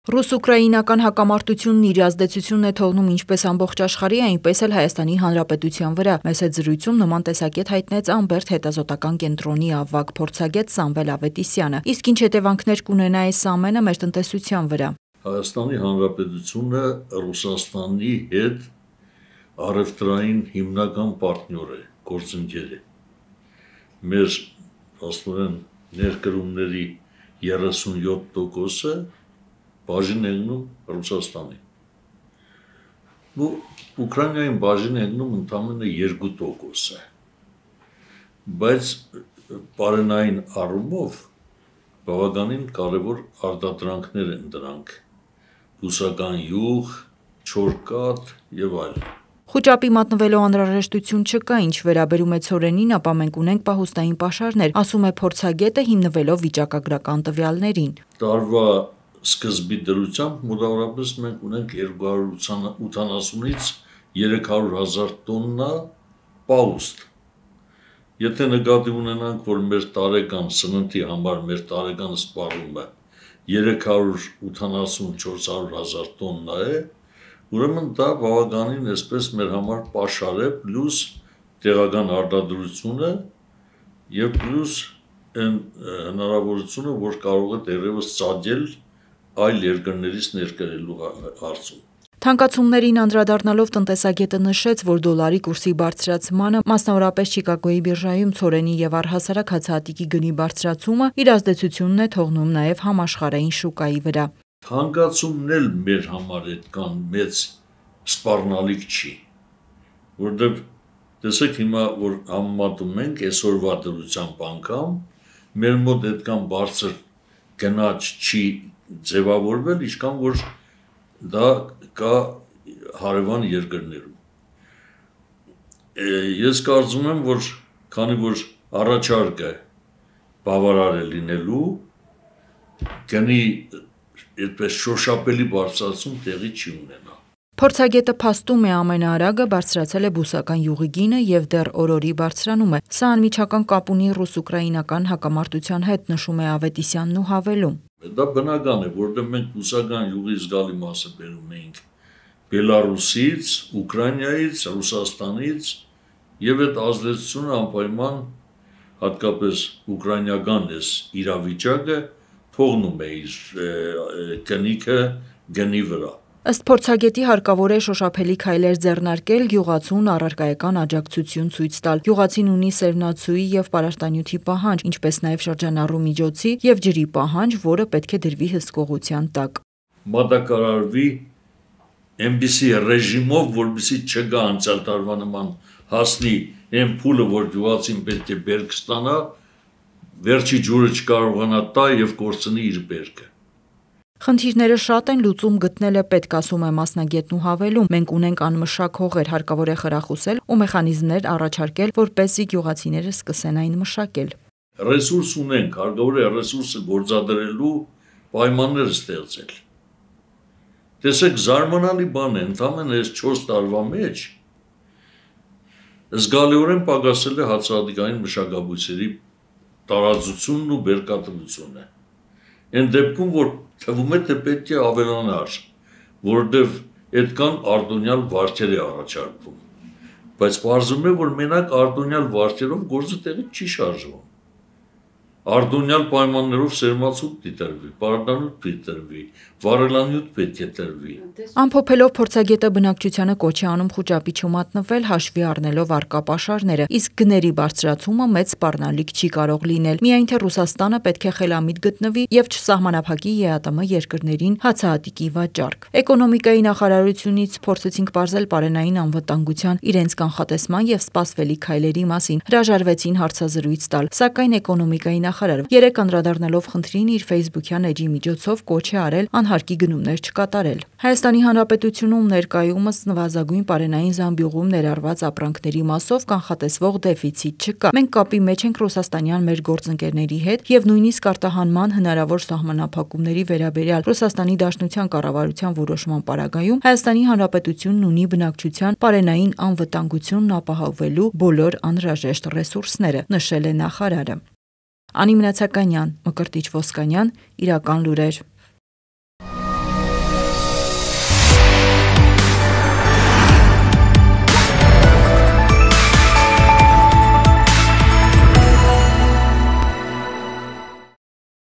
Ռուս-ուկրաինական հակամարտությունն իր ազդեցությունն է թողնում ինչպես ամբողջ աշխարհի, այնպես էլ Հայաստանի Հանրապետության վրա։ Մեծ այդ զրույցում նման տեսակետ հայտնեց Ամբերտ հետազոտական կենտրոնի ավագ փորձագետ Սամվել Ավետիսյանը։ Իսկ ինչ հետևանքներ կունենա այս ամենը մեր տնտեսության վրա։ Հայաստանի Հանրապետությունը Ռուսաստանի հետ առևտրային հիմնական պարտնյոր է, գործընկեր է։ Մեր աստորեն ներկրումների 37%-ը բաժին εγնում Ռուսաստանի։ Ուկրաինային բաժին εγնում ընդամենը 2% է։ Բայց բարենային առումով բավականին կարևոր արտադրանքներ են դրանք։ Բուսական յուղ, չորկատ եւ այլն։ Խուճապի մատնվելու անհրաժեշտություն չկա, ինչ վերաբերում է ցորենին, ապա մենք ունենք պահուստային պաշարներ, ասում է փորձագետը հիմնվելով վիճակագրական տվյալներին։ Տարվա սկզբի դրությամբ մոտավորապես մենք ունենք 280-ից 300,000 տոննա պահուստ։ Եթե նկատի ունենանք, որ մեր տարեկան սննդի համար մեր տարեկան սպառումը 380-400,000 տոննա է, ուրեմն դա բավականին այսպես մեր համար պաշար է, պլյուս տեղական արտադրությունը եւ պլյուս այն հնարավորությունը, որ կարող է դեռևս ծագել այլ երկրներից ներկրելու հարցում։ Թանկացումներին անդրադառնալով տնտեսագետը նշեց, որ դոլարի կուրսի բարձրացմանը, մասնավորապես Չիկագոյի բիրժայում ցորենի եւ առհասարակ հացահատիկի գնի բարձրացումը իր ազդեցությունն է թողնում նաեւ համաշխարհային շուկայի վրա։ Թանկացումն էլ մեր համար այդքան մեծ սպառնալիք չի, որտեղ տեսեք հիմա որ համեմատում ենք այսօրվա դրությամբ անգամ մեր մոտ այդքան բարձր գնաճ չի ձևավորվել, ինչքան որ դա կա հարևան երկրներում։ Ես կարծում եմ, որ քանի որ առաջարկը բավարար է լինելու, գնի այդպես շոշափելի բարձրացում տեղի չի ունենա։ Փորձագետը փաստում է ամենաարագը բարձրացել է բուսական յուղի գինը եւ դեռ օրորի բարձրանում է։ Սա անմիջական կապ ունի ռուս-ուկրաինական հակամարտության հետ, նշում է Ավետիսյանն ու հավելում։ Դա բնական է, որովհետեւ մենք բուսական յուղի զգալի մասը բերում էինք Բելարուսից, Ուկրաինայից, Ռուսաստանից եւ այդ ազդեցությունը անպայման հատկապես ուկրաինական էս իրավիճակը թողնում է իր կնիքը գնի վրա։ Ըստ փորձագետի հարկավոր է շոշափելի քայլեր ձեռնարկել, գյուղացուն առարկայական աջակցություն ցույց տալ։ Գյուղացին ունի սերմնացուի եւ պարարտանյութի պահանջ, ինչպես նաեւ շրջանառու միջոցի եւ ջրի պահանջ, որը պետք է դրվի հսկողության տակ։ Մատակարարվի այնպիսի ռեժիմով, որպեսզի չգա անցյալ տարվա նման հասնի այն փուլը, որ գյուղացին պետք է բերք ստանա, վերջի ջուրը չկարողանա տա եւ կորցնի իր բերքը։ Խնդիրները շատ են, լուծում գտնելը պետք, ասում է մասնագետն ու հավելում։ Մենք ունենք անմշակ հողեր, հարկավոր է խրախուսել ու մեխանիզմներ առաջարկել, որպեսզի գյուղացիները սկսեն այն մշակել։ Ռեսուրս ունենք, հարկավոր է ռեսուրսը գործադրելու պայմաններ ստեղծել։ Տեսեք, զարմանալի բան է, ընդամենը այս 4 տարվա մեջ զգալիորեն պակասել է հացահատիկային մշակաբույսերի տարածությունն ու բերկատվությունը։ Այն դեպքում, որ թվում է թե պետք է ավելանար, որովհետև այդքան արտոնյալ վարկեր է առաջարկվում, բայց պարզվում է, որ մենակ արտոնյալ վարկերով գործը տեղի չի շարժվում։ Արտոնյալ պայմաններով սերմացուկ դիտրվի, պարարտանյութ դիտրվի, վառելանյութ պետք է տրվի։ Ամփոփելով փորձագետը բնակչությանը կոչ է անում խուճապի չմատնվել, հաշվի առնելով առկա պաշարները, իսկ գների բարձրացումը մեծ սպառնալիք չի կարող լինել։ Միայն թե Ռուսաստանը պետք է խելամիտ գտնվի եւ չսահմանափակի ԵԱՏՄ երկրներին հացահատիկի վաճառք։ Էկոնոմիկայի նախարարությունից փորձեցինք պարզել պարենային անվտանգության, իրենց կանխատեսման եւ սպասվելի քայլերի մասին։ Հրաժարվեցին հարցազրույց տալ, սակայն էկոնոմիկայի նախարարը երեք անդրադառնալով խնդրին իր Facebook-յան էջի միջոցով կոչ է արել անհարկի գնումներ չկատարել։ Հայաստանի Հանրապետությունում ներկայումս նվազագույն պարենային զամբյուղում ներառված ապրանքների մասով կանխատեսվող դեֆիցիտ չկա։ Մենք կապի մեջ ենք ռուսաստանյան մեր գործընկերների հետ եւ նույնիսկ արտահանման հնարավոր սահմանափակումների վերաբերյալ Ռուսաստանի Դաշնության կառավարության որոշման պարագայում Հայաստանի Հանրապետությունն ունի բնակչության պարենային անվտանգությունն ապահովելու բոլոր անհրաժեշտ ռեսուրսները, նշել է նախարարը։ Անի Մնացականյան, Մկրտիչ Ոսկանյան, Իրական լուրեր։